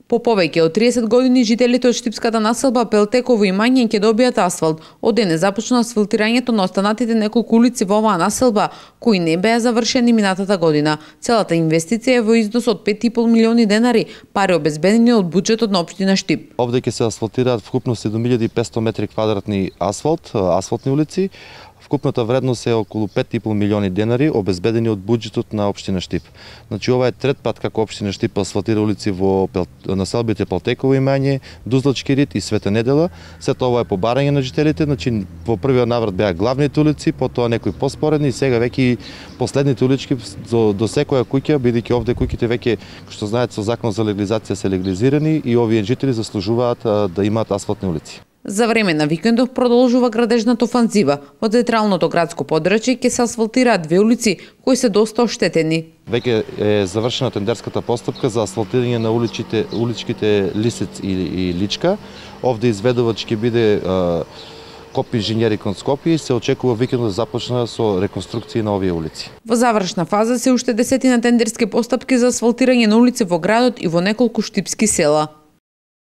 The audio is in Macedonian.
По повеќе од 30 години жителите од штипската населба Пелтеково имање ќе добијат асфалт. Од денес започна асфалтирањето на останатите неколку улици во оваа населба кои не беа завршени минатата година. Целата инвестиција е во износ од 5,5 милиони денари, пари обезбедени од буџетот на општина Штип. Овде ќе се асфалтираат вкупно 7500 метри квадратни асфалтни улици. Вкупната вредност е околу 5,5 милиони денари, обезбедени од буџетот на општина Штип. Значи ова е трет пат како општина Штип асфалтира улици во населбите Пелтеково имање, Дузлачки рид и Света Недела. Сето ова е по барање на жителите, значи во првиот наврат беа главните улици, потоа некои поспоредни и сега веќе последните улички до секоја куќа, бидејќи овде куќите веќе, што знаете, со закон за легализација се легализирани и овие жители заслужуваат да имаат асфалтни улици. За време на викендов продолжува градежната офанзива. Во централното градско подрачје ќе се асфалтираат две улици кои се доста оштетени. Веќе е завршена тендерската постапка за асфалтирање на уличките Лисец и Личка. Овде изведувач ќе биде КОП инженери кон Скопје и се очекува викендот да започна со реконструкција на овие улици. Во завршна фаза се уште 10 тендерски постапки за асфалтирање на улици во градот и во неколку штипски села.